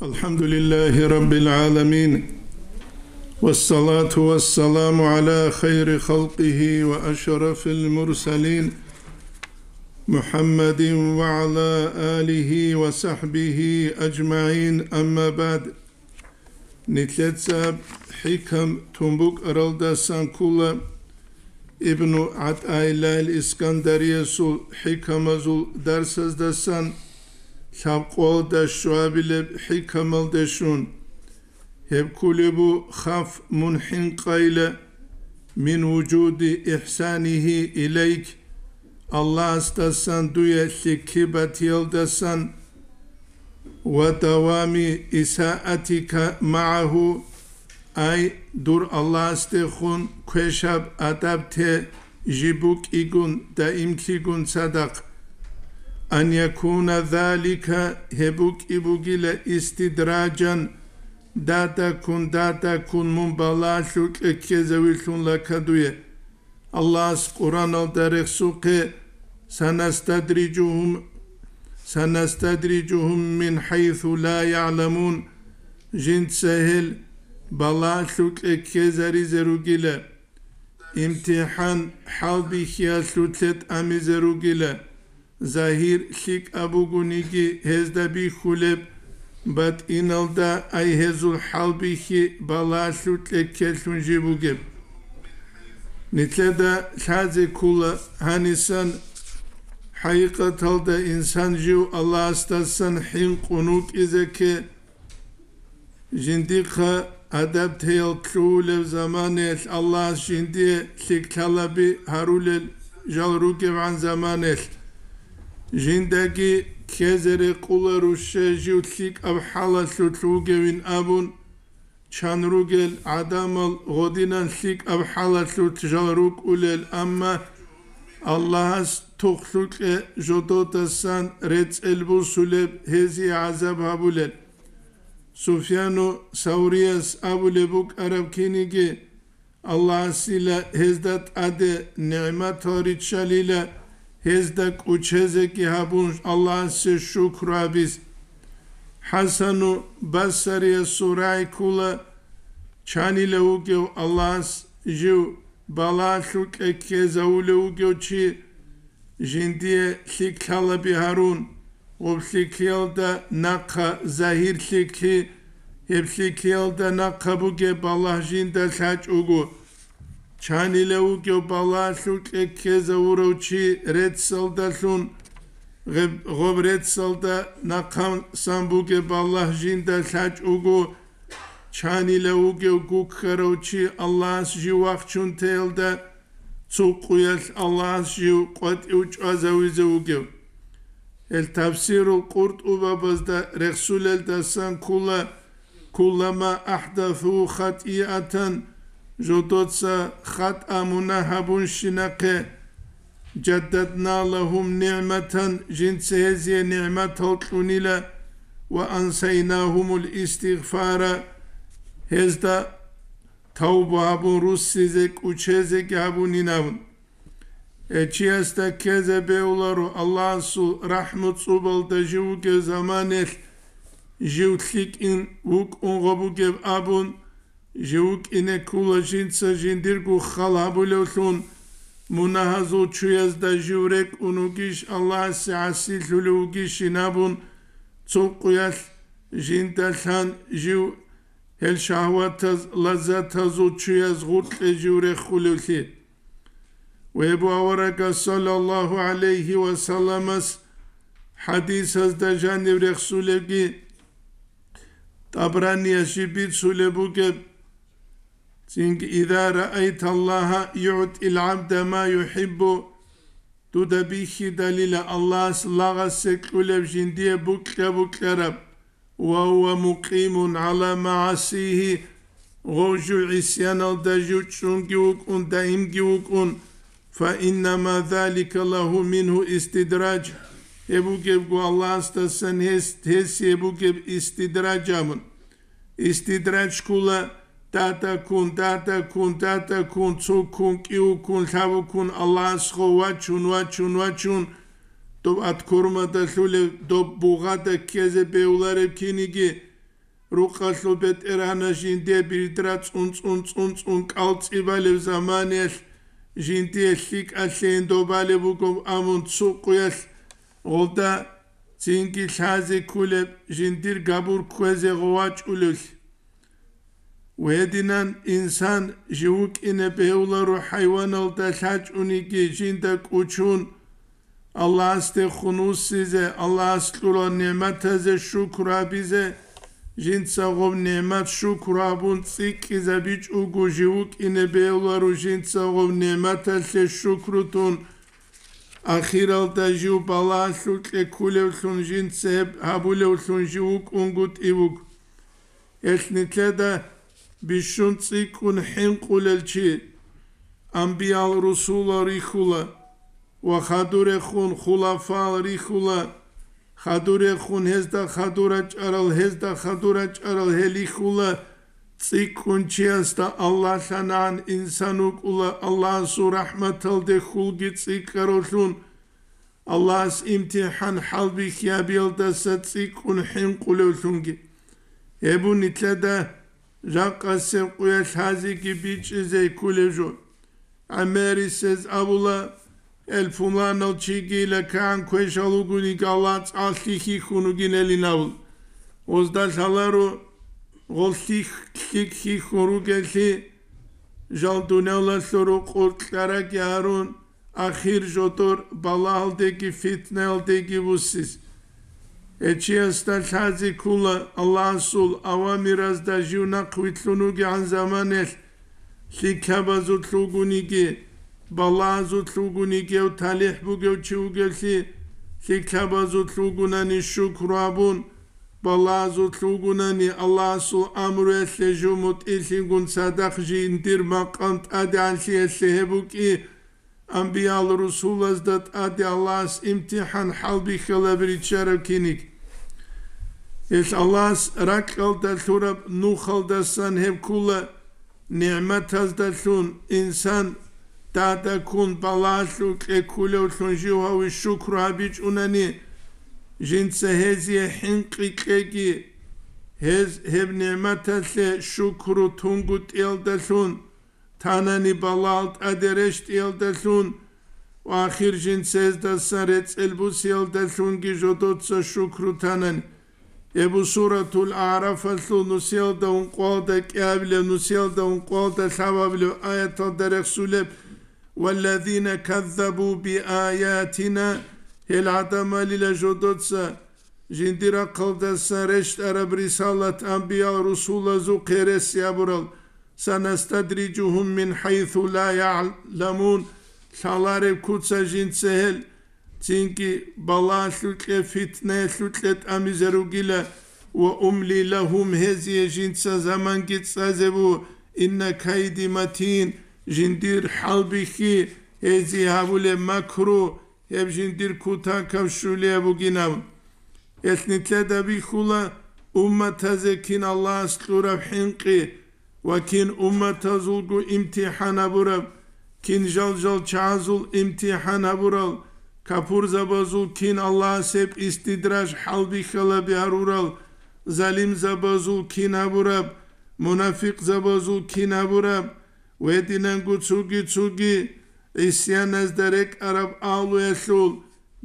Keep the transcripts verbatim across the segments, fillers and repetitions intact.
الحمد لله رب العالمين، والصلاة والسلام على خير خلقه وأشرف المرسلين، محمد وعلى آله وصحبه أجمعين، أما بعد. Нилъеца хӀикам тун букӀаралдасан ккола Ибну ГӀатӀаиллагьил Искандариясул хӀикамазул дарсаздасан лъабкъоялда щуабилеб хӀикамалде щун. Гьеб кколеб бу: «Хаф, мун хӀинкъайила, мин вужуди ихсанихи илайк», Аллагьасдасан дуе лъикӀлъи батиялдасан, «ва давами исаатика магӀагьу», ай, дур Аллагьасдехун квешаб адаб те жиб букӀигун даимлъигун цадахъ. «Ан якуна залика», гьеб букӀи бугила истидраджан, дадаккун, дадаккун мун балагьалъукье ккезавилъун лакадуе. Аллагьас Къуръаналда рехсухъе: «Санастадриджугьум, санастадриджугьум мин хӀайсу ла ягӀламун», жинца гьел балагьалъукье ккезаризе ругила, имтихӀан хӀалбихьиялъулъе тӀамизе ругила. Загьир лъикӀаб бугониги гьезда бихьулеб, батӀиналда ай гьезул хӀалбихьи балагьалъукье ккелъун жиб бугеб. Нилъеда лъазе ккола гьанисан хӀакъикъаталда инсан жив Аллагьасдасан хӀинкъун вукӀизе кке. Жиндихъа адаб тейал лъугьулев заманаялъ Аллагьас жиндие лъикӀлъалаби гьарулел жал ругевгӀан заманаялъ, жиндаги ккезе рекъула руще жив лъикӀаб хӀалалъулъ вугевин абун, чан ругел гӀадамал гъодинан лъикӀаб хӀалалъулъ жал рукӀулел, амма Аллагьас тухлъукье жододасан рецӀел бусулеб, гьезие гӀазаб гьабулел. Суфьяну Саврияс абулеб букӀараб киниги, Аллагьасила гьезда тӀаде нигӀматал риччалила, гьезда кӀучезеги гьабун Аллагьасе шукру гьабиз. ХӀасану Басариясул рагӀи ккула, чанила вугев Аллагьас жив балагьалъукье ккезавулев вугев чи, жиндие лъикӀлъалаби гьарун, гъоб лъикӀлъиялда нахъа загьир лъикӀлъи, гьеб лъикӀлъиялда нахъа бугеб балагь жинда лъачӀого, чанила вугев балагьалъукье ккезавурав чи реццалдалъун, гъеб-, гъоб реццалда нахъасан бугеб балагь жинда лъачӀого, чанила вугев гуккарав чи Аллагьас жив вахчун теялда, цо къуялъ Аллагьас жив къватӀив чӀвазавизе вугев. Гьел Тафсирул КъуртӀубабазда рехсулелдасан ккула: «Куллама ахӀдасу хатӀиатан», жодоца хатӀа-мунагь гьабунщинахъе, «жаддадна лагьум нигӀматан», жинца гьезие нигӀматал кьунила, «ва ансайнагьумул истигъфара», гьезда тавба гьабун руссизе кӀучезеги гьабунин абун. Гьев чиясда ккезе бегьуларо Аллагьасул рахӀму цӀубалда жив вугев заманаялъ жив лъикӀин вукӀун гъо бугеб абун, жив вукӀине ккула жинца жиндирго хал гьабулевлъун, мунагьазул чуязда жив рекӀун вугищ, Аллагьасе гӀасилъулев вугищин абун, цо къуялъ жинда лъан жив гьел шагьватаз, лаззатазул чуяз гъуркье жив рехулевлъи. Ва гьеб аварагас, саллаллагьу гӀалайгьи ва салламас, хӀадисазда жанив рехсулебги, ТӀабранияс жиб бицулеб бугеб, цинги: «Иза раайталлагьа югӀтил гӀабда ма юхӀиббу», дуда бихьидалила Аллагьас лагъасе кьулеб жиндие букьа-букьараб, «ва гьува мукъимун гӀала магӀасигьи», гъов жив гӀисяналда жив чӀунги вукӀун, даимги вукӀун, «фа иннама залика лагьу мингьу истидраж», гьеб бугебго Аллагьасдасан гьес, гьесие бугеб истидраж абун. Истидраж ккула дадаккун, дадаккун, дадаккун, цуккун, кӀиуккун, лъабуккун, Аллагьасго вачун, вачун, вачун, доб аткормада лъулев, доб бугъада ккезе бегьуларев киниги, Рукъалъул бетӀергьанас жиндие бирдра цӀун-цӀун-цӀун-цӀун кӀалцӀи балеб заманиялъ жиндие лъикӀалъейин добалеб бугеб абун цо къуялъ гъолда цинги лъазе кколеб жиндир габур кквезе гъов вачӀулевлъи. Гьединан инсан жив вукӀине бегьуларо хӀайваналда лъачӀониги жинда кӀучун, Аллагьасдехун вуссизе, Аллагьас кьурал нигӀматазе шукр гьабизе, жинца гъоб нигӀмат шукр гьабун цӀикӀкӀизабичӀого жив вукӀине бегьуларо жинца гъоб нигӀматалъе шукру тун, ахиралда жив балагьалъул кьеккулевлъун жинца гьеб гьабулевлъун жив вукӀунгутӀи вуго. Гьелъ нилъеда бищун цӀикӀкӀун хӀинкъулел чи анбиял-русулал рихьула ва хадурехун хулафаал рихьула, хадурехун гьезда хадур рачӀарал, гьезда хадур рачӀарал гьел рихьула, цӀикӀкӀун чиясда Аллагь лъанагӀан инсан вукӀула, Аллагьасул рахӀматалде хьулги цӀикӀкӀаравлъун, Аллагьас имтихӀан хӀалбихьи гьабиялдаса цӀикӀкӀун хӀинкъулевлъунги. Гьеб бу нилъеда жакъасеб къуялъ гьазиги бичӀчӀизе кколеб жо. ГӀемерисез абула, гьел пуланал чигила кагӀан квешал вугониги Аллагь цӀалъи хьихьун вугинелин абул. Гъозда лъаларо гъол лъих-, лъик хьихьун ругеллъи, жал дуниялалъул рукъур кьараги гьарун, ахир жодор балагьалдеги фитнаялдеги вуссис. Гьечиясда лъазе ккола Аллагьасул авамиразда жив нахъвилълъун вугегӀан заманалъ, лъикӀлъабазулъ вугониги, балагьазулъ вугониги гьев талихӀ бугев чи вугевлъи, лъикӀлъабазулъ вугунани шукру абун, балагьазулъ вугунани Аллагьасул амруялъе жив мутӀигӀлъигун цадахъ жиндир макъам тӀадегӀанлъиялъе гьеб букӀи, анбиял-русулазда тӀаде Аллагьас имтихӀан хӀалбихьалаби риччараб киниг. Гьелъ Аллагьас ракьалда лъураб нухалдасан гьеб ккула, нигӀматаздалъун инсан дада ккун балагьалъул кьеккулевлъун жив гьаве шукру гьабичӀунани, жинца гьезие хӀинкъи кьеги, гьез гьеб нигӀматалъе шукру тунгутӀиялдалъун, танани балагьал тӀаде рещтӀиялдалъун ва ахир жинца гьездасан рецӀел бусиялдалъунги жодоца шукру танани. Гьеб бу Суратул АгӀрафалъул нусиялда ункъоялда кӀиабилев, нусиялда ункъоялда лъабабилев аяталда рехсулеб: «Валлазина каззабу биаятина», гьел гӀадамалила жодоца жиндир рахъалдасан рещтӀараб рисалат анбиял-русулазухъе рес гьабурал, «Санастадрижугьум мин хӀайсу ла яъламун», лъалареб куца жинца гьел, цинги балагьалъукье, фитнаялъукье тӀамизе ругила, «ва умли лагьум», гьезие жинца заманги цӀазе бу, «инна кайди матин», жиндир хӀалбихьи, гьезие гьабулеб макру, гьеб жиндир кутакаб щулияб бугинаб. Гьелъ нилъеда бихьула умматазе кин Аллагьас кьураб хӀинкъи ва кин умматазулго имтихӀан гьабураб, кин жал-жал чагӀазул имтихӀан гьабурал, капурзабазул кин Аллагьас гьеб истидраж хӀалбихьалаби гьарурал, залимзабазул кин гьабураб, мунафикъзабазул кин гьабураб, гьединанго цоги-цоги гӀисяназда рекӀараб агьлуялъул,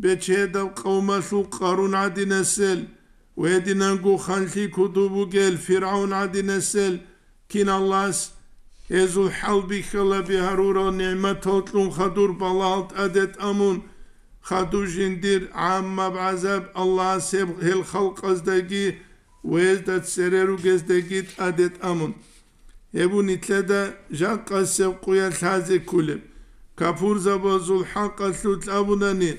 бечедаб къавмалъул Къарун гӀадинасел, гьединанго ханлъи куду бугел ФиргӀавн гӀадинасел, кин Аллагьас гьезул хӀалбихьалаби гьарурал нигӀматал кьун хадур балагьал тӀаде тӀамун, хадур жиндир гӀаммаб гӀазаб Аллагьас гьеб, гьел халкъаздаги ва гьезда цере ругездаги тӀаде тӀамун. Гьеб бу нилъеда жакъасеб къуялъ лъазе кколеб. Капурзабазул хӀакъалъулъ абунани,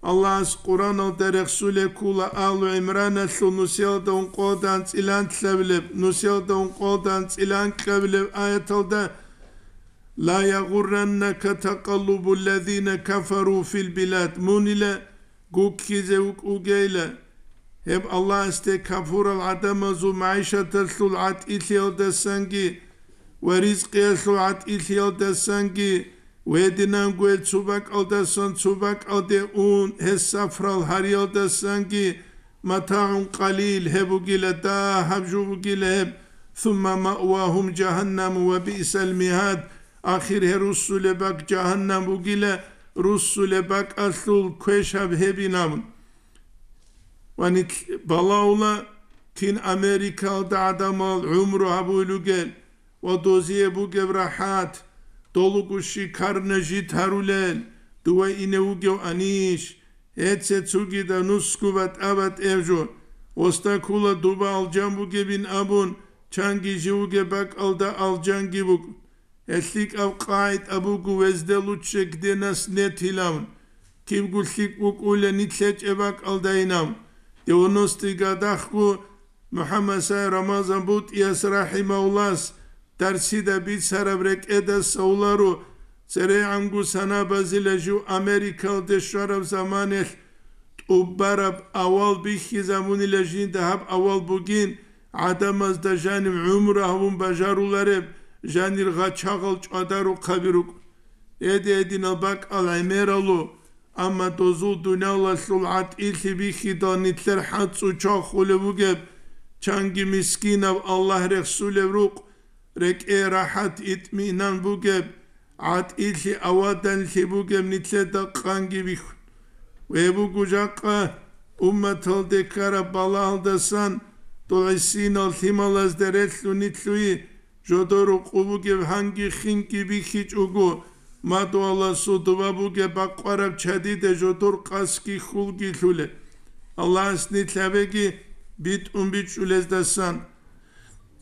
Аллагьас Къураналда рехсулеб ккула Алу ГӀимраналъул нусиялда ункъоялда анцӀила анлъабилеб, нусиялда ункъоялда анцӀила анкьабилеб аяталда: «Ла ягъурраннака такъаллубуллазина кафару фил билад», мунила гуккизе вукӀугейла. Гьеб Аллагьасде капурал гӀадамазул магӀишаталъул гӀатӀилъиялдасанги ва ризкъиялъул гӀатӀилъиялдасанги, гьединанго гьел цо бакӀалдасан цо бакӀалде ун, гьез сафрал гьариялдасанги, матагӀун къалил, гьеб бугила дагьаб жо бугила гьеб, сумма маъвагьум жагьаннаму ва биъсал мигьад, ахир гьел руссулеб бакӀ жагьаннам бугила, руссулеб бакӀалъул квешаб гьебин абун. Ва нилъ балагьула, кин Америкалда гӀадамал гӀумру гьабулел ругел ва дозие бугеб рахӀат, долго шикарно жид гьарулел, дова ине вугев анищ, гьеце цогидаб нусго батӀа-батӀияб жо, осда ккола дова алжан бугебин абун, чанги жив вугеб бакӀалда алжанги буго. Гьел лъикӀаб къагӀида буго: везде лучше, где нас нет илан. Кибго лъикӀ букӀула нилъ гьечӀеб бакӀалдайин абун. Девяностый годахъго МухӀаммад Сай Рамазан БутӀияс рахӀимагьуллагьас дарсида бицараб рекӀедас гьавуларо, церегӀанго санабазила жив Америкалде щвараб заманалъ тӀубараб авал бихьизабунила жинда гьаб авал бугин, гӀадамазда жанив гӀумру гьавун бажарулареб, жанир гъачагъал чӀвадарухъаби рукӀ. Эд-эдинал бакӀал гӀемералу, амма дозул дуниялалъул гӀатӀилъи бихьидал нилъер хӀацӀу чвахулеб бугеб, чанги мискинаб Аллагь рехсулеб рукъ, рекӀее рахӀат, итминан бугеб, гӀатӀилъи аваданлъи бугеб нилъеда къанги бихьун. Гьеб буго жакъа умматалде ккараб балагьалдасан дол гӀисинал лъималазда релълъун нилъ, жодор рукъу бугеб гьанги хинги бихьичӀого, мадугьаласул дова бугеб бакъвараб чадиде жодор къасги хьулги лъулеб. Аллагьас нилъ гьабеги битӀун бичӀчӀулездасан.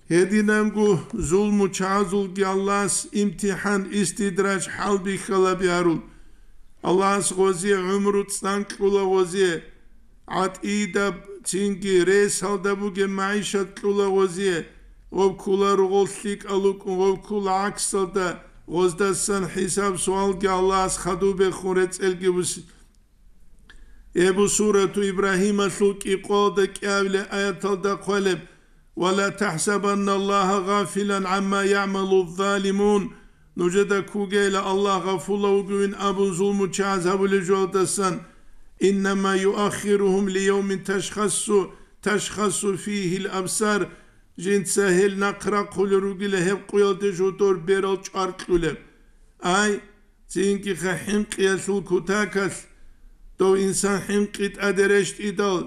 Гьединанго зулмучагӀазулги Аллагьас имтихӀан, истидраж, хӀалбихьалаби гьарул. Аллагьас гъозие гӀумру цӀан кьула гъозие, гӀатӀидаб цинги ресалда бугеб магӀишат кьула гъозие, гъов ккола ругъол лъикӀал рукӀун, гъов ккола гӀаксалда, гъоздасан хӀисаб-суалги Аллагьас хадубехун рецӀелги буси. Эбу сурату Ибрагьималъул кӀикъоялда кӀиабилеб аяталда хъвалеб: «Ва ла тахӀсабанна Аллагьа гъафилан гӀамма ягӀмалу залимун», нужеда ккугейила Аллагь гъафулав вугевин абун зулмучагӀаз гьабулев жоялдасан, «иннама юаххиругьум лиявмин ташхасу, ташхасу фигьил абсар», жинца гьел нахърахъулел ругила гьеб къуялде жодор берал чӀваркьулеб. Ай, Цинги-ха хӀинкъиялъул кутакалъ, дов инсан хӀинкъи тӀаде рещтӀидал,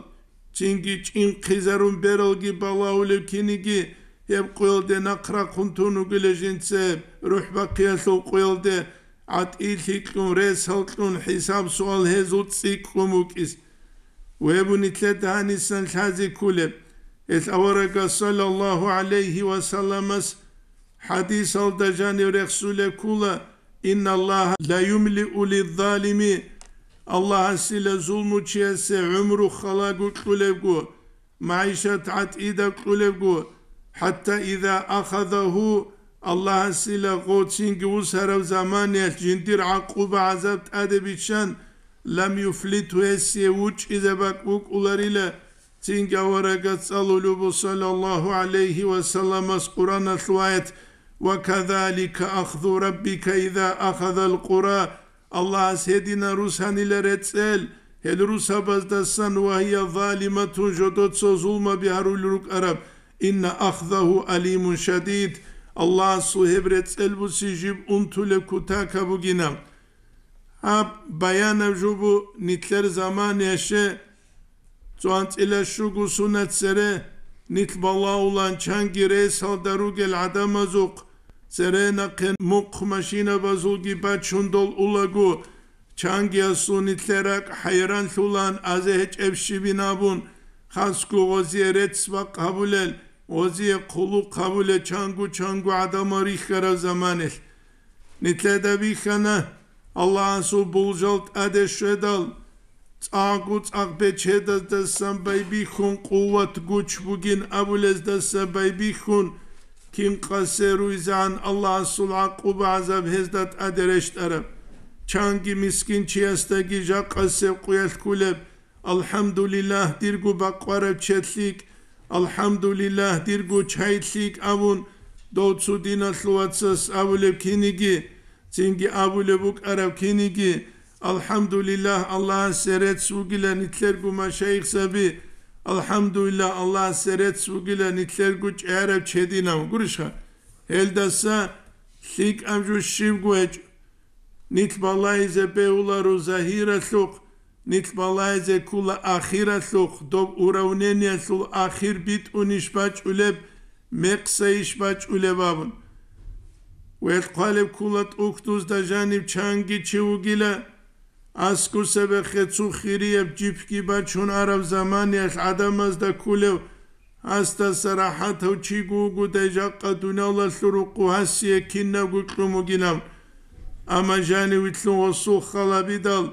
цинги чӀинхъизарун бералги балагьулев киниги, гьеб къуялде нахърахъун тун вугила жинцеб, рухӀ бахъиялъул къуялде гӀатӀилъи кьун, ресал кьун, хӀисаб-суал гьезул цӀикӀкӀун вукӀиз. Вебу нилъеда гьанисан лъазе кколеб. Гьел аварагас саллаллагьу гӀалайгьи ва салламас хӀадисалда жанив рехсулеб ккола: «Инналлагьа ла юмлиу лиззалими», Аллагьасила зулмучиясе гӀумру халаго кьулебго, магӀишат гӀатӀидаб кьулебго, хӀатта иза ахазагьу, Аллагьасила гъов цинги вусараб заманиялъ жиндир гӀакъуба-гӀазаб тӀаде биччан, лам юфлитгьу, гьесие вучӀизе бакӀ букӀуларила. Цинги аварагас цӀалулеб буго, саллаллагьу гӀалайгьи ва салламас, Къуръаналъул аят: «Ва казалика ахзу раббика иза ахазал къура», Аллагьас гьединан русанила рецӀел, гьел русабаздасан, «ва гьия залиматун», жодоца зулмаби гьарулел рукӀараб, «инна ахзагьу алимун шадид», Аллагьасул гьеб рецӀел буси жиб унтулеб кутакаб бугина. Гьаб баянаб жо буго нилъер заманаялъе, цо анцӀила щуго сунат цере нилъ балагьулан чанги ресалда ругел гӀадамазухъ, цере нахъе мухъ машинабазулги бачун дол улаго, чангиясул нилъер ракӀ хӀайранлъулан, азе гьечӀеб щибин абун, хасго гъозие рецц-бакъ гьабулел, гъозие хъулухъ гьабулел чанго-чанго гӀадамал рихьараб заманалъ. Нилъеда бихьана, Аллагьасул булжал тӀаде щведал, цӀакъго цӀакъ бечедаздасан байбихьун, къуват-гуч бугин абулездаса байбихьун, кин къасе руйзегӀан Аллагьасул гӀакъуба-гӀазаб гьезда тӀаде рещтӀараб. Чанги мискинчиясдаги жакъасеб къуялъ кколеб, «АлхӀамдулиллагь, дирго бакъвараб чед лъикӀ! АлхӀамдулиллагь, дирго чай лъикӀ!» абун, дов цо диналъул вацас абулеб киниги, цинги абулеб букӀараб киниги, «АлхӀамдулиллагь, Аллагьасе рецц вугилан нилъерго машайихзаби, АлхӀамдулиллагь, Аллагьасе рецц бугила нилъерго чӀараб чединав, гурищха? Гьелдаса лъикӀаб жо щибго гьечӀо. Нилъ балагьизе бегьуларо загьиралъухъ, нилъ балагьизе ккола ахиралъухъ, доб уравнениялъул ахир битӀунищ бачӀулеб, мекъсайищ бачӀулеб абун. Ва хъвалеб ккола тӀухьдузда жаниб чанги чи вугила, аскӀусебехъе цо хирияб жипги бачун араб заманиялъ гӀадамазда кколев, гьасдаса рахӀатав чиго вугодай жакъа дуниялалъул рукъу гьасие кинабго кьун бугилан. Амма жанивилълъун гъосул халабидал,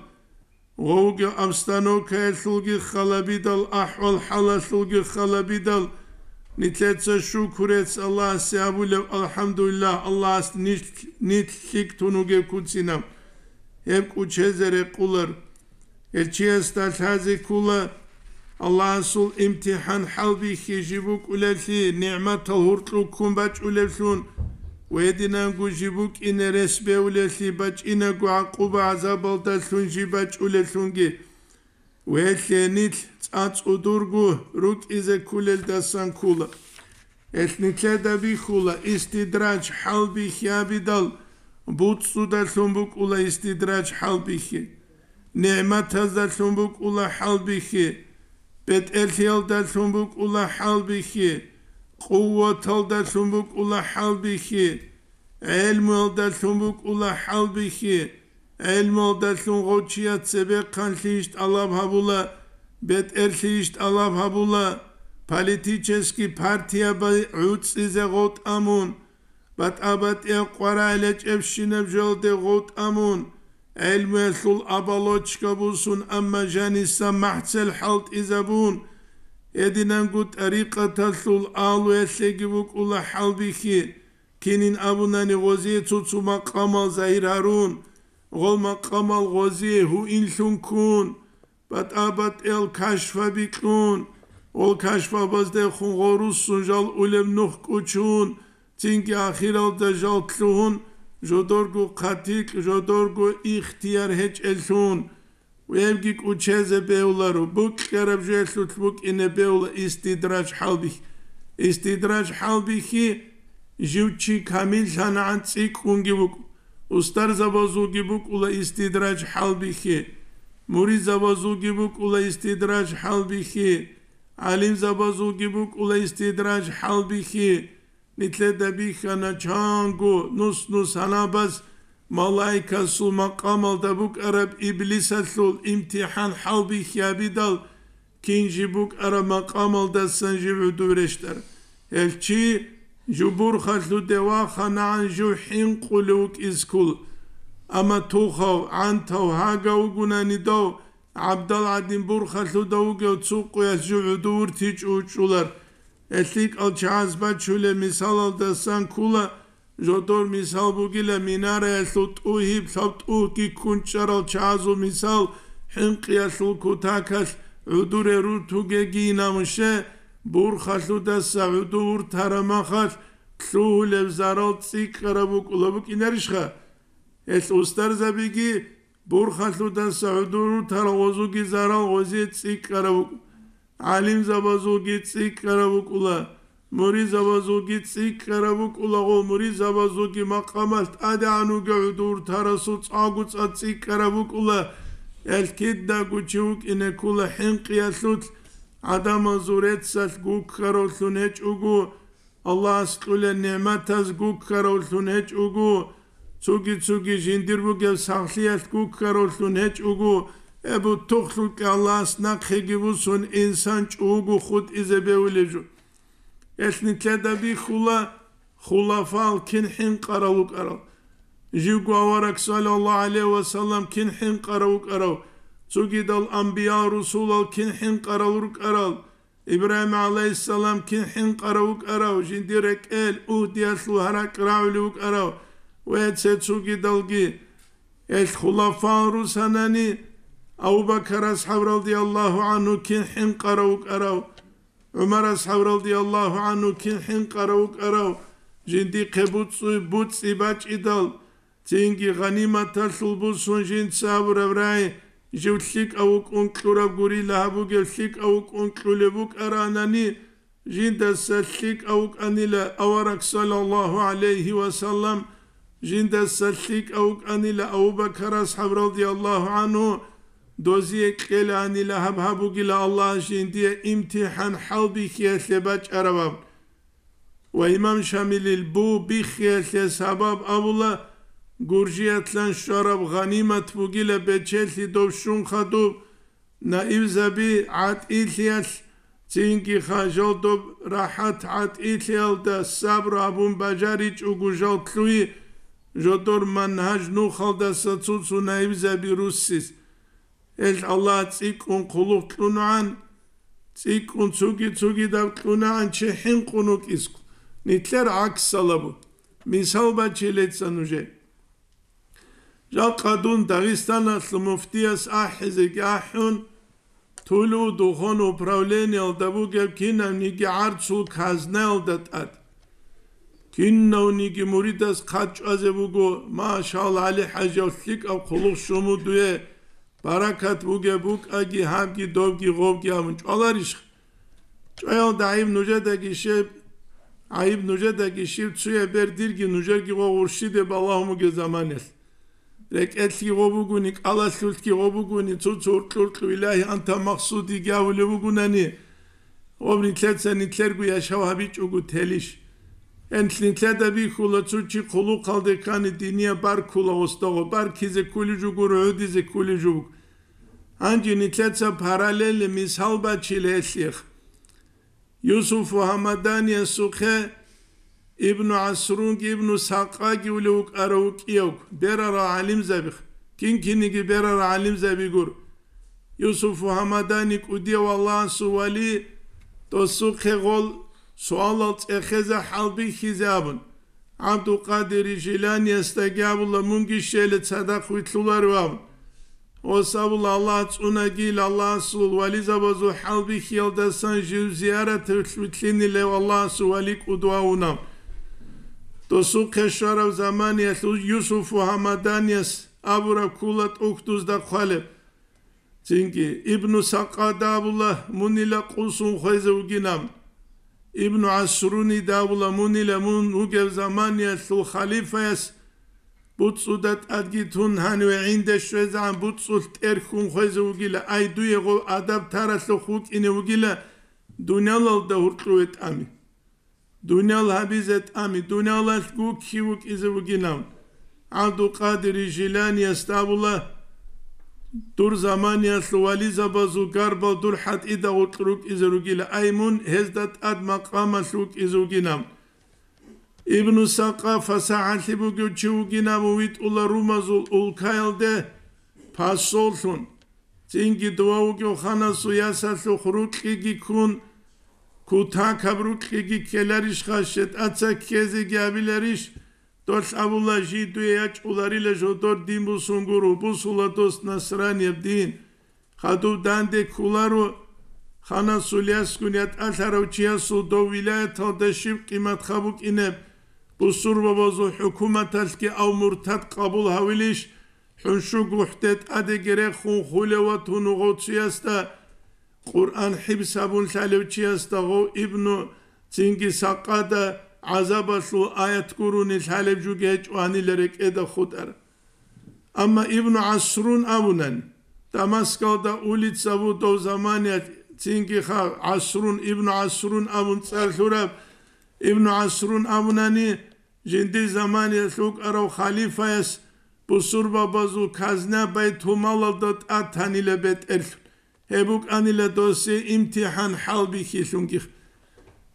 гъовги обстановкаялъулги халабидал, ахӀвал-хӀалалъулги халабидал, нилъеца шукурец Аллагьасе абулеб, алхӀамдулиллагь, Аллагьас нилъ, нилъ лъикӀ тун вугеб куцина. Гьеб кӀучезе рекъулар. Гьел чиясда лъазе ккола, Аллагьасул имтихӀан хӀалбихьи жиб букӀулеллъи, нигӀматал гьуркьу ккун бачӀулевлъун, ва гьединанго жиб букӀине рес бевлеллъи, бачӀинаго гӀакъуба-гӀазабалдалъун жиб бачӀулеллъунги, ва гьелъие нилъ цӀа-цӀудурго рукӀизе кколелдасан ккола. Гьелъ нилъеда бихьула истидраж хӀалбихьи абидал, буцӀцӀудалъун букӀула истидраж хӀалбихьи, нигӀматаздалъун букӀула хӀалбихьи, бетӀерлъиялдалъун букӀула хӀалбихьи, къуваталдалъун букӀула хӀалбихьи, гӀелмуялдалъун букӀула хӀалбихьи, гӀелмуялдалъун гъов чияс цебехъанлъийищ тӀалаб гьабула, бетӀерлъийищ тӀалаб гьабула, политический партиябай гӀуцӀизе гъов тӀамун, батӀа-батӀияб къварагӀел гьечӀебщинаб жоялде гъов тӀамун, гӀелмуялъул оболочка бусун, амма жаниса махӀцел хӀалтӀизабун, гьединанго тӀарикъаталъул агьлуялъеги букӀула хӀалбихьи, кинин абунани гъозие цо-цо макъамал загьир гьарун, гъол макъамал гъозие гьуинлъун ккун, батӀа-батӀиял кашфаби кьун, гъол кашфабаздехун гъорусун жал улеб нух кӀучун, цинги ахиралда жал лъугьун, жодорго хъатикь, жодорго ихтияр гьечӀеллъун. Гьебги кӀучезе бегьуларо, букьараб жоялъулъ букӀине бегьула истидраж хӀалбихь. Истидраж хӀалбихьи жив чи камиллъанагӀан цӀикӀкӀунги вукӀу. Устарзабазулги букӀула истидраж хӀалбихьи, муридзабазулги букӀула истидраж хӀалбихьи, гӀалимзабазулги букӀула истидраж хӀалбихьи. Нилъеда бихьана чанго нус-нус гьанабаз малаикасул макъамалда букӀараб иблисалъул имтихӀан хӀалбихьи абидал, кин жиб букӀараб макъамалдасан жив гӀодов рещтӀар. Гьел чи жубурхалъуде ваханагӀан жив хӀинкъулев вукӀиз ккола. Амма тухав, гӀантав, гьагав вугунани дов, ГӀабдал гӀадин бурхалъуда вугев цо къоялъ жив гӀодов вуртичӀо учӀулар. ГьелъикӀал чагӀаз бачулеб мисалалдасан ккола, жодор мисал бугила минараялъул тӀугьиб лъабтӀугьги ккун чӀарал чагӀазул мисал, хӀинкъиялъул кутакалъ гӀодоре рутугегийин абун щай, бурхалъудаса гӀодов вуртараб махалъ лъугьулеб зарал цӀикӀкӀараб букӀула букӀинарищха? Гьелъ устарзабиги бурхалъудаса гӀодов рутарал гъозулги зарал гъозие цӀикӀкӀараб букӀу. ГӀалимзабазулги цӀикӀкӀараб букӀула, муридзабазулги цӀикӀкӀараб букӀула, гъо муридзабазулги макъамалъ тӀадегӀан вугев гӀодов рутарасул цӀакъго цӀа цӀикӀкӀараб букӀула. Гьелъ кидаго чи вукӀине ккола хӀинкъиялъулъ, гӀадамазул реццалъ гуккаравлъун гьечӀого, Аллагьас кьулел нигӀматаз гуккаравлъун гьечӀого, цоги-цоги жиндир бугеб сахлъиялъ гуккаравлъун гьечӀого, гьеб бутухълъукьа Аллагьас нахъеги бусун инсан чӀого хутӀизе бевулеб жо. Гьелъ нилъеда бихьула хулафал кин хӀинкъарал вукӀарал. Живго авараг, саллаллагьу гӀалайгьи ва саллам, кин хӀинкъарав вукӀарав, цогидал анбиял-русулал кин хӀинкъарал рукӀарал, Ибрагьим гӀалайгьиссалам кин хӀинкъарав вукӀарав, жиндир рекӀел угьдиялъул гьаракь рагӀулев вукӀарав ва цецогидалги. Гьел хулафал русанани, Абу Бакар асхӀаб радияллагьу гӀангьу кин хӀинкъарав вукӀарав, ГӀумар асхӀаб радияллагьу гӀангьу кин хӀинкъарав вукӀарав, жиндихъе буцӀцӀу-, буцӀцӀи бачӀидал, цинги гъаниматалъул бусун жинца абураб рагӀи жив лъикӀав вукӀун кьураб гурила гьаб бугев, лъикӀав вукӀун кьулеб букӀаранани, жиндаса лъикӀав вукӀанила авараг, саллаллагьу гӀалайгьи ва саллам, жиндаса лъикӀав вукӀанила Абу Бакар асхӀаб, радияллагьу гӀангьу, дозие кьелаанила гьаб гьаб бугила Аллагьас жиндие имтихӀан хӀалбихьиялъе бачӀараб абун. Ва имам Шамилил бу биххиялъе сабаб абула, Гуржиятлъан щвараб гъанимат бугила бечелъи дов щун хадуб, наибзаби гӀатӀилъиялъ, цинги хажал доб рахӀат гӀатӀилъиялда сабру абун бажаричӀого жал лъугьи, жодор манхӀаж нухалдаса цо-цо наибзаби руссис. Гьел Аллагь цӀикӀкӀун хъулухъ кьунугӀан, цӀикӀкӀун цуги-цугидаб кьунагӀан чи хӀинкъун вукӀисго, нилъер гӀаксалабу. Мисал бачилеца нужее. Жакъа дун Дагъистаналъул муфтияс ахӀизеги ахӀун, Тулу духун управлениялда бугеб кинавниги гӀарцул казнаялда тӀад. Кинавниги муридас хъат чӀвазе буго, машалла, ГӀали-хӀажияв лъикӀаб хъулухъ щун буго дуе, баракат бугеб букӀаги гьабги добги гъобги абун чӀваларищха? ЧӀваялда гӀайиб нужедаги щиб, гӀайиб нужедаги щиб, цуяб бер дирги нужерги гъо гъурщиде балагьун бугеб заманалъ. РекӀелъги гъо бугони, кӀалалъулъги гъо бугони, цо-цо уркьу-уркьу илагьи анта макъсуди гьавулев вугунани, гъоб нилъеца нилъерго яшав гьабичӀого телищ? Гьенлъ нилъеда бихьула, цо чи хъулухъалде ккани, диния баркула гъосда гъо, баркизе ккулев жо гуро, гӀодизе ккулев жо буго. Гьанже нилъеца параллельный мисал бачила гьелъех. Юсуфу Гьамаданиясухъе Ибну ГӀасрунги Ибну Сакъаги улев вукӀарав вукӀиявго, берарал гӀалимзабих, кин-кинниги берарал гӀалимзаби гуро. Юсуфу Гьамадани кӀудияв Аллагьасул вали, досухъе гъол суалал цӀехезе хӀалбихьизе абун, ГӀабдулкъадир Жиланиясдаги абула, мунги щела цадахъ вилълъуларев абун. Гъос абула, Аллагь цӀунагил, Аллагьасул вализабазул хӀалбихьиялдасан жив зияраталъ вилълъинилев Аллагьасул вали кӀудвавунав. Досухъе щварав заманиялъул Юсуфу Гьамаданияс абураб ккула тӀухьдузда хъвалеб. Цинги Ибну Сакъада абула, мунила къусун хвезе вугинаб. Ибну ГӀасрунида абула, мунила мун вугев заманиялъул халифаяс буцӀцӀуда тӀадги тун гьаниве гӀинде щвезегӀан буцӀцӀулъ тӀерхьун хвезе вугила, ай дуе гъов адаб таралъухъ вукӀине вугила, дуниялалда гьуркьуве тӀами. Дуниял гьабизе тӀами, дуниялалъ гукки вукӀизе вугинав. ГӀабдулкъадир Жиланиясда абула, дур заманиялъул вализабазул гарбал дур хӀатӀида гъоркь рукӀизе ругила, ай мун гьезда тӀад макъамалъ вукӀизе вугинав. Ибну Сакъа фасахӀалъи бугев чи вугинав витӀула румазул улкаялде пасоллъун. Цинги дова вугев ханасул ясалъухъ рукьиги ккун, кутакаб рукьиги ккеларищха, щетӀаца ккезеги абиларищ? Долъ абула, жий дуе ячӀуларила жодор дин бусун гуро, бусула дос насранияб дин. Хадуб данде кколаро, ханасул ясгун ятӀалъарав чиясул дов вилаяталда щиб къиматха букӀинеб, бусурбабазул хӀукуматалъги ав муртад къабул гьавилищ? ХӀуншу гухӀде тӀадеги рехун хулев ватун вугъов чиясда, Къуръан хӀибс гьабун лъалев чиясда гъов Ибну цинги Сакъада гӀазабалъул аят гурони лъалеб жуги гьечӀо гьанила рекӀеда хутӀар. Амма Ибну ГӀасрун абунани, Дамаскалда улица ву дов заманиялъ, цинги ха ГӀасрун, Ибну ГӀасрун абун цӀар лъураб, Ибну ГӀасрун абунани, жиндир заманиялъ вукӀарав халифаяс бусурбабазул казна байтулмалалда тӀад танила бетӀерлъун, гьеб букӀанила досие имтихӀан хӀалбихьилъунгих.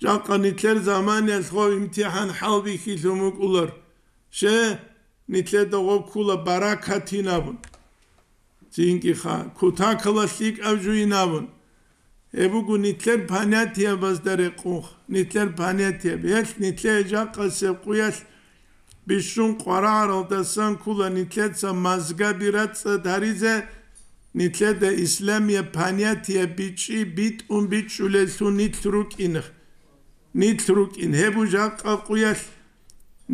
Жакъа нилъер заманиялъ гъов имтихӀан хӀалбихьилъун вукӀулар. Ще, нилъеда гъов ккула баракатин абун. Цинги ха, кутакала лъикӀаб жуйин абун. Гьеб буго нилъер понятиябазда рекъунх, нилъер понятияб. Гьелъ нилъее жакъасеб къуялъ бищун къварагӀаралдасан ккула нилъеца мазгаби рацӀцӀад гьаризе, нилъеда исламияб понятияб бичӀчӀи битӀун бичӀчӀулеллъун нилъ рукӀинх. Нилъ рукӀин, гьеб жакъа къуялъ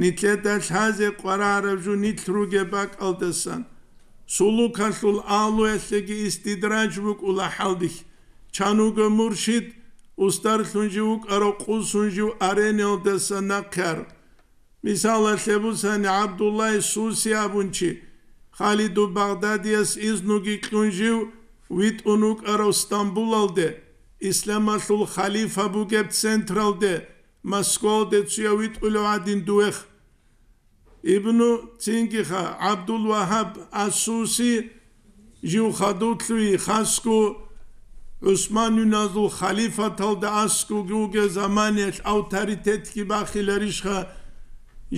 нилъеда лъазе къварагӀараб жо нилъ ругеб бакӀалдасан. Сулукалъул агьлуялъеги истидраж букӀула хӀалбихь. Чан вуго муршид, устарлъун жив вукӀарав къусун жив арениялдаса нахъе ар. Мисалалъе бусани, ГӀабдуллагь Суси абун чи, Халиду Багъдадияс изнуги кьун жив витӀун вукӀарав Стамбулалде, исламалъул халифа бугеб централде, Москвалде цуяв витӀулев гӀадин дугьех. Ибну цингиха ГӀабдул-Вагьаб ас-Суси жив хадув лъугьи, хасго ГӀусманюназул халифаталда аскӀовги вугев заманиялъ авторитетги бахиларищха,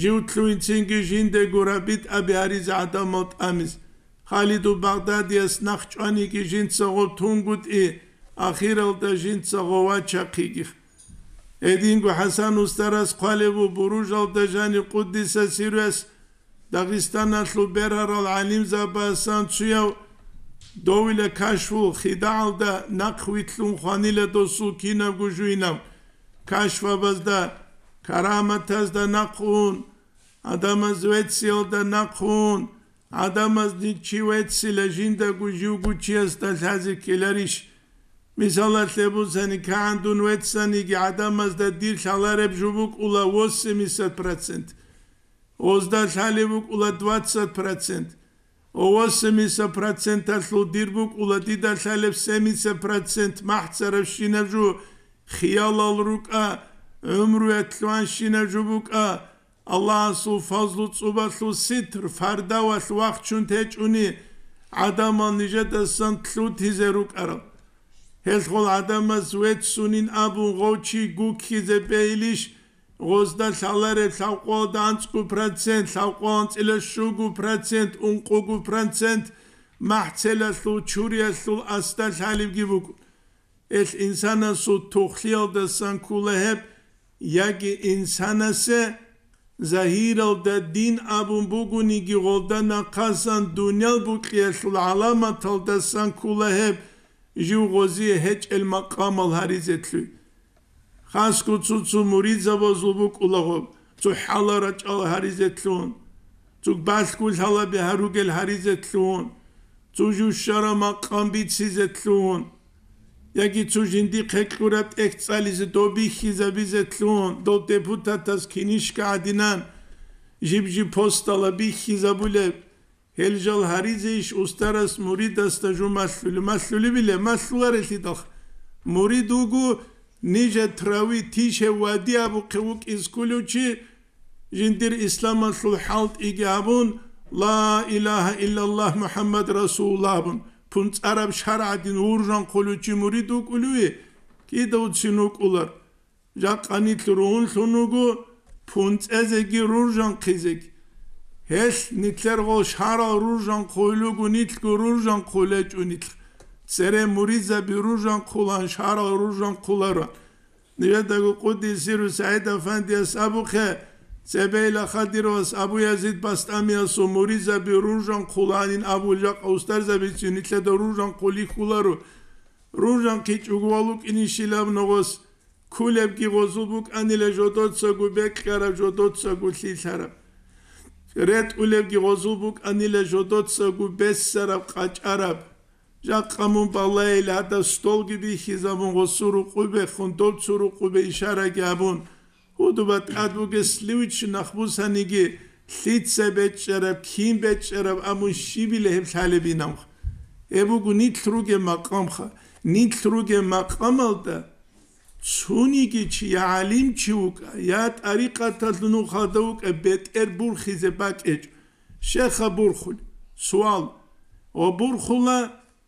жив лъугьинцинги жиндаго рабитӀаби гьаризе гӀадамал тӀамиз. Халиду Багъдадияс нахъ чӀваниги жинца гъоб тунгутӀи, ахиралда жинца гъов вачахъиги. Гьединго ХӀасан устарас хъвалев ву, Буружалда жанив къуддиса сирруяс Дагъистаналъул бергьарал гӀалимзабасан цуяв довила кашфул хидагӀалда нахъ вилълъун хванила досул кинабго жугьинав кашфабазда, караматазда нахъ ун, гӀадамаз вецциялда нахъ ун, гӀадамазни чи веццила жиндаго живго чиясда лъазе ккеларищ? Мисалалъе бусани, кагӀан дун веццаниги, гӀадамазда дир лъалареб жо букӀула восемьдесят процент. Гъозда лъалеб букӀула двадцать процент. Ва восемьдесят проценталъул дир букӀула дида лъалеб семьдесят процент махӀцарабщинаб жо, хиялал рукӀа, гӀумруялъ лъугьанщинаб жо букӀа, Аллагьасул фазлу цӀубалъул ситр, фардавалъ вахчун течӀуни, гӀадамал нижедасан лъутизе рукӀарал. Гьелъул гӀадамаз веццунин абун гъов чи гуккизе бегьилищ, гъозда лъалареб лъабкъоялда анцӀго процент, лъабкъоялда анцӀила щуго процент, ункъого процент махӀцелалъул, чуриялъул асда лъалебги буго. Гьелъ инсанасул тухлъиялдасан ккола гьеб, яги инсанасе загьиралда дин абун бугониги, гъолда нахъасан дуниял букьиялъул гӀаламаталдасан ккола гьеб, жив гъозие гьечӀел макъамал гьаризе лъугьи. Хасго цо-цо муридзабазул букӀулаго, цо хӀалал рачӀал гьаризе лъугьун, цо балъго лъалаби гьаругел гьаризе лъугьун, цо жущараб макъам бицизе лъугьун, яги цо жиндихъе кьураб тӀехь цӀализе доб бихьизабизе лъугьун, дол депутатас кинишка гӀадинан жиб-жиб постала бихьизабулеб. Гьел жал гьаризейищ устарас муридасда жо малъулеб? Малъулебилеб? Малъуларелъидал. Мурид вуго нижет рави тише вади абухъе вукӀиз кколев чи, жиндир исламалъул хӀалтӀиги абун, «Ла илагьа иллаллагь МухӀаммад расулуллагь» абун, пунцӀараб шаргӀ гӀадин вуржанхъулев чи мурид вукӀулеве? Кида вуцин вукӀулар? Жакъа нилъ ругьунлъун вуго пунцӀезеги руржанхъизеги. Гьелъ нилъер гъол шарал руржанхъулел руго, нилъго руржанхъулел гьечӀо нилъ. Цере муридзаби руржанхъулаан шарал руржанхъуларо. Нижедаго къуддиса сирругьу СагӀид-афандияс абухъе, цебейила Хадировас Абу-Язид БастӀамиясул муридзаби руржанхъулаанин абул, жакъа устарзабицин нилъеда руржанхъулихьуларо. РуржанхъичӀого валукӀинищилаб ногъос, кколебги гъозул букӀанила жодоцаго бекьараб, жодоцаго лъилъараб. РетӀулебги гъозул букӀанила жодоцаго бессараб, къачӀараб. Жакъа мун балайила гьадаб столги бихьизабун, гъосул рукъубехун, доб цо рукъубе ишараги гьабун, гьудуба тӀад бугес лъивичи нахбусаниги, лъица бечӀчӀараб, кин бечӀчӀараб абун щибила гьеб лъалебинавха. Гьеб буго нилъ ругеб макъамха. Нилъ ругеб макъамалда цониги чи, я гӀалимчи вукӀа, я тӀарикъаталъул нухалда вукӀа, бетӀер бурхизе бакӀечӀо. Щеха бурхулеб? Суал. Ва бурхула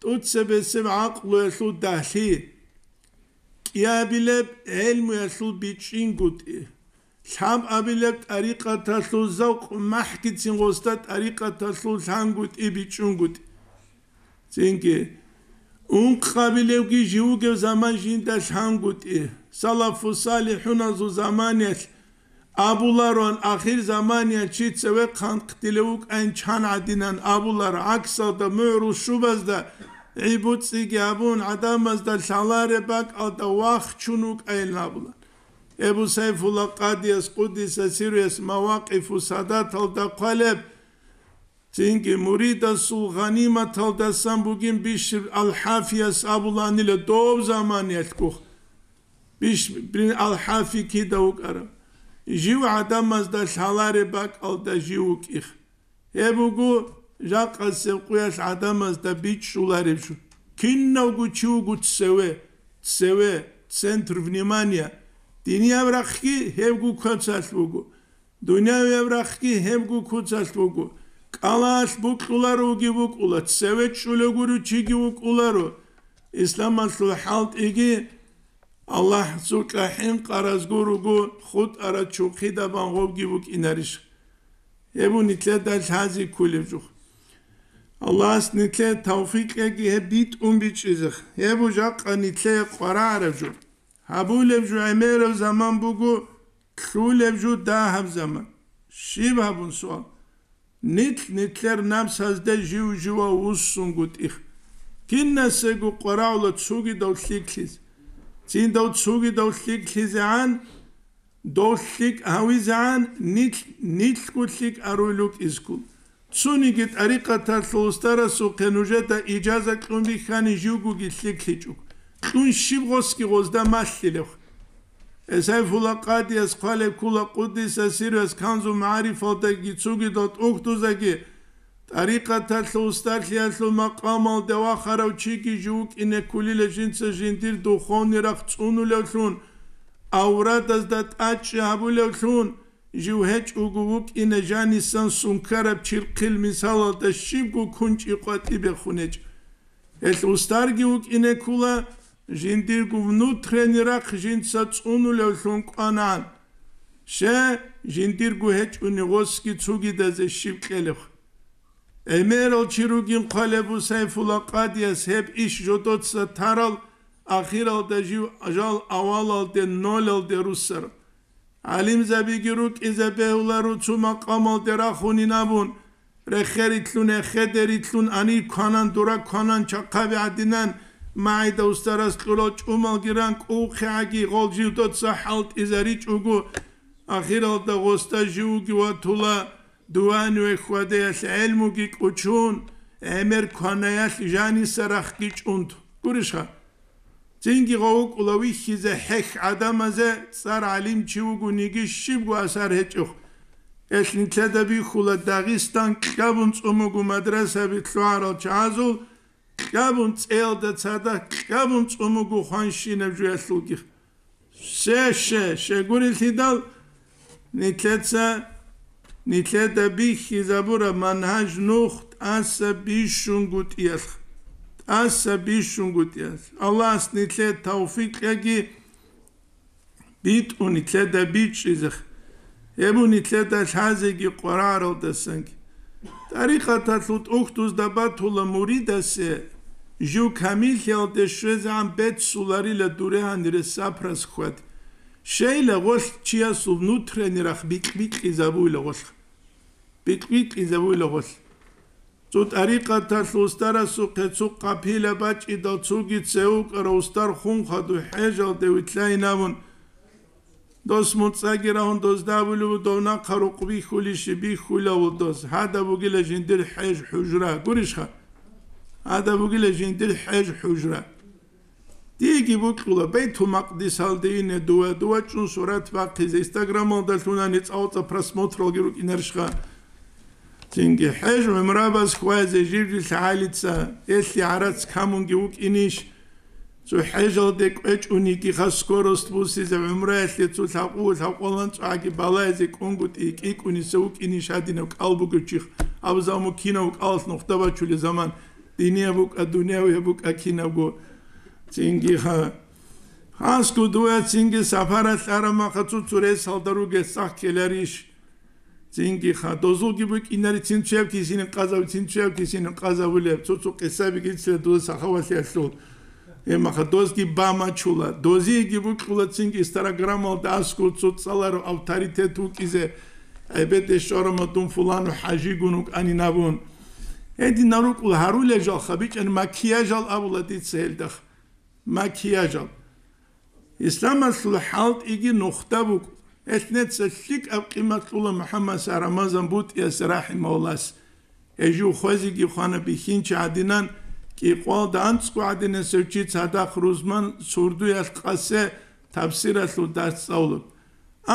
тӀуцебесеб гӀакълуялъул дагьлъи. КӀиабилеб гӀелмуялъул бичӀчӀингутӀи, лъабабилеб тӀарикъаталъул завкъ, махӀгицин гъосда тӀарикъаталъул лъангутӀи бичӀчӀунгутӀи. Цинги, ункъабилевги живугев заман жинда лъангутӀи, салафу салихӀуназул заманиялъ абулароан, ахир заманиялъ чи цевехъ хъанкъдилев вукӀайин чан гӀадинан абуларо, гӀаксалда, мугӀрул щубазда гӀибуцӀиги абун, гӀадамазда лъалареб бакӀалда вахчун вукӀайин абула. Эбу Сайфулла Къадияс, къуддиса сирругьу, Мавакъифу Садаталда хъвалеб, Цинги муридасул гъаниматалдасан бугин Бишр ал-ХӀафияс абуланила дов заманиялъгух. Бишр бин ал-ХӀафи кида вукӀараб? Жив гӀадамазда лъалареб бакӀалда жив вукӀих. Гьеб буго жакъасеб къуялъ гӀадамазда бичӀчӀулареб жо. Кинавго чи вуго цеве, цеве, центр внимания. Динияб рахъги гьебго куцалъ буго. Дуниявияб рахъги гьебго куцалъ буго. КӀалалъ букьуларо вуги букӀула, цеве чӀула гуро чиги вукӀуларо. Исламалъул хӀалтӀиги Аллагь цукьа хӀинкъаразго руго, хутӀарачухъидабан гъобги букӀинарищ? Гьеб бу нилъеда лъази кколеб жо. Аллагьас нилъее тавфикъ кьеги гьеб битӀун бичӀчӀизех. Гьеб бу жакъа нилъее къварагӀараб жо. Гьабулеб жо гӀемераб заман буго, лъулеб жо дагьаб заман. Щиб гьабун суал? Нилъ нилъер напсазде жив-жива вуссунгутӀих. Кинасего къварагӀула цугидав лъикӀлъизе. Цин дов цугидав лъикӀлъизегӀан, дов лъикӀ гьавизегӀан, нилъ, нилъго лъикӀ аруй лукӀизккун. Цониги тӀарикъаталъул устарасухъе нужеда ижаза кьун бихьани живгоги лъикӀлъичӀого. Кьун щиб гъосги гъозда малъилев. Эсай фула къадияс хъвалеб ккула къуддиса сиррас Канзу магӀарифалдаги цугидал тӀухьдузаги, тӀарикъаталъул устарлъиялъул макъамалде вахарав чиги жив вукӀине ккулила жинца жиндир духовный рахъ цӀунулевлъун, аврадазда тӀачӀи гьабулевлъун, жив гьечӀого вукӀине жанисан сункараб чирхъил мисалалда щибго кунчӀи къватӀибехун гьечӀо. Гьелъ устарги вукӀине ккула, жиндирго внутренний рахъ жинца цӀунулевлъун кӀванагӀан. Ще, жиндирго гьечӀони гъосги цугидазе щиб кьелеб? ГӀемерал чи ругин хъвалеб бу Сайфула къадияс гьеб иш жодоца тарал, ахиралда жив жал авалалде нолалде руссараб. ГӀалимзабиги рукӀизе бегьуларо цо макъамалде рахунин абун, рехерилълъун, эхедерилълъун, анир кванан, дора кванан, чахъаби гӀадинан, магӀида устарас кьурал чӀумалги ран кӀувхъегӀаги гъол жив доца хӀалтӀизаричӀого, ахиралда гъосда живги ватула, дуван вехь вадеялъ гӀелмуги кӀучун, гӀемер кванаялъ жаниса рахъги чӀунту. Гурищха? Цинги гъов вукӀула вихьизе хӀехь гӀадамазе, цӀар гӀалимчи вугониги щибго асар гьечӀох. Гьелъ нилъеда бихьула Дагъистан кьабун цӀумугу мадрасаби лъугӀарал чагӀазул, кьабун цӀеялда цадахъ кьабун цӀумугу хванщинаб жуялъулги. Ще, ще, ще гурелъидал, нилъеца, нилъеда бихьизабураб манхӀаж нух тӀаса бищунгутӀиялъ. ТӀаса бищунгутӀиялъ. Аллагьас нилъее тавфикъ кьеги, битӀун нилъеда бичӀчӀизехъ. Гьеб бу нилъеда лъазеги къварагӀаралдасанги. ТӀарикъаталъул тӀухьдузда батула муридасе жив камиллъиялде щвезегӀан беццуларила дуре гьанире сапрас хьвад. Щейла гъолъ чиясул внутренний рахъ бикь-бикьизабуйла гъолъ. Бикь-бикьизабуйла гъолъ. Цо тӀарикъаталъул устарасухъе цо къапила бачӀидал цоги цевукӀарав устар хун хадуй хӀежалде вилълъайин абун, дос муцӀаги рагьун дозда абулев дов нахъа рукъ бихьулищи бихьулавул дос, гьада бугила жиндир хӀеж-хӀужра. Гурищха? Гьада бугила жиндир хӀеж-хӀужра. Диеги букьула, Байтул-Макъдисалде ине дува, дува чӀун сурат бахъизе, Инстаграмалда лъунани цӀалцӀа просмотралги рукӀинарищха? Цинги хӀеж-гӀумрабаз хьвазе жив-жив лъагӀалица, элъи гӀарац камунги вукӀинищ? Цо хӀежалде кӀвечӀунигиха скорость бусизе гӀумраялъе цо лъакъу-лъакъвалан цӀвагӀаги балайзе кӀунгутӀи кӀикӀуниса вукӀинищ гьадинав кӀал бугев чих? Абзал муккинав кӀалалъ нухда бачулеб заман, динияб букӀа, дунявияб букӀа кинабго. Цинги ха. Хасго дуя цинги сапаралъ араб маха цо-цо ресалда ругел сах ккеларищ? Цинги ха. Дозулги букӀинари цин цуяб кисинин къазав, цин цуяб кисинин къазавулеб. Цо-цо къисаби гицлъе доза сахавалъиялъул. Гьебмаха дозги бамачула. Дозиеги букьула цинги стенограммалда аскӀов цо цӀаларав авторитет вукӀизе. ГӀебеде щварамадун фулану хӀажигун вукӀанин абун. Гьединал рукӀула гьарулел жалха, бичӀчӀани макияжал абула дица гьелдахъ. Макияжал. Исламалъул хӀалтӀиги нухда букӀ. Гьелъ неца лъикӀаб къимат кьула МухӀаммад Рамазан БутӀияс рахӀимагьуллагьас. Гьежив хвезеги хвана бихьинчи гӀадинан, кӀикъвалда анцӀго гӀадинасев чи цадахъ рузман сурдуялъ къасе табсиралъул дарс цӀалулеб.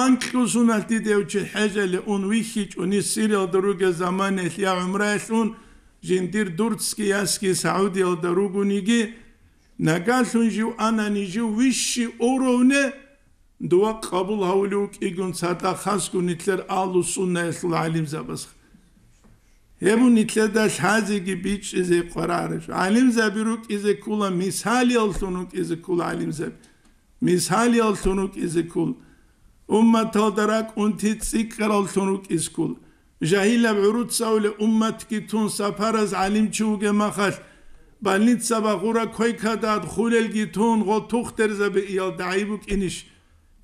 Анкьусуналъ дида гьев чи хӀежале ун вихьичӀони, Сириялда ругел заманаялъ я гӀумраялъ ун, жиндир дурцги ясги Саудиялда ругониги, нагагьлъун жив анани жив вищи уровне дова къабул гьавулев вукӀигун цадахъ хасго нилъер агьлу-суннаялъул гӀалимзабаз. Гьеб нилъеда лъазеги бичӀчӀизе къварагӀараш. ГӀалимзаби рукӀизе ккола, мисалияллъун рукӀизе ккола гӀалимзаби. Мисалияллъун рукӀизе ккола. Умматалда ракӀунти цӀикӀкӀараллъун рукӀизе ккола. Жагьилаб гӀуруцавулеб умматги тун сапараз гӀалимчи вугеб махалъ, больница багъура койкада адхулелги тун гъо тухтерзаби иялда гӀайиб букӀинищ?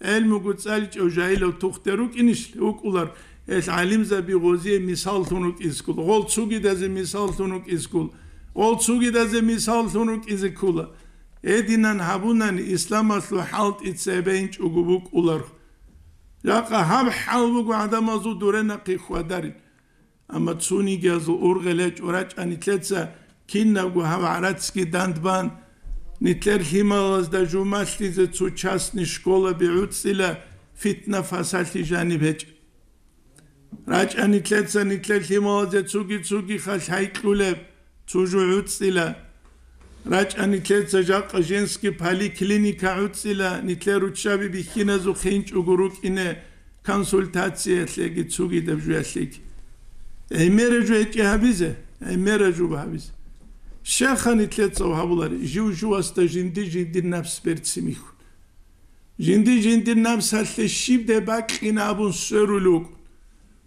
ГӀелмуго цӀаличӀев жагьилав тухтер рукӀинищ? ВукӀулар, гьел гӀалимзаби гъозие мисаллъун рукӀизе ккола, гъол цугидазе мисаллъун рукӀизе ккола, гъол цугидазе мисаллъун рукӀизе ккола. Гьединан гьабунани, исламалъул хӀалтӀи цебейинчӀого букӀулар. Жакъа гьаб хӀал буго гӀадамазул дуренахъе хьвадарин. Амма цунигиязул ургъел гьечӀо рачӀа нилъеца кинабго гьаб гӀарацги дандбан, нилъер лъималазда жумалъизе цо частный школаби гӀуцӀила, фитна-фасалъи жаниб гьечӀ. РачӀа нилъеца нилъер лъималазе цуги-цуги халъ гьайкьулеб, цо жо гӀуцӀила. РачӀа нилъеца жакъа женский поликлиника гӀуцӀила, нилъер руччаби бихьиназухъе инчӀого рукӀине консультациялъеги цугидаб жуялъеги. ГӀемера жу гьечӀи гьабизе, гӀемера жу гьабизе. Щайха нилъеца гьабулари, жив-живасда жинди-жиндир напс берцин михьун. Жинди-жиндир напсалъе щибдай бакьина абун сверулел вукӀун.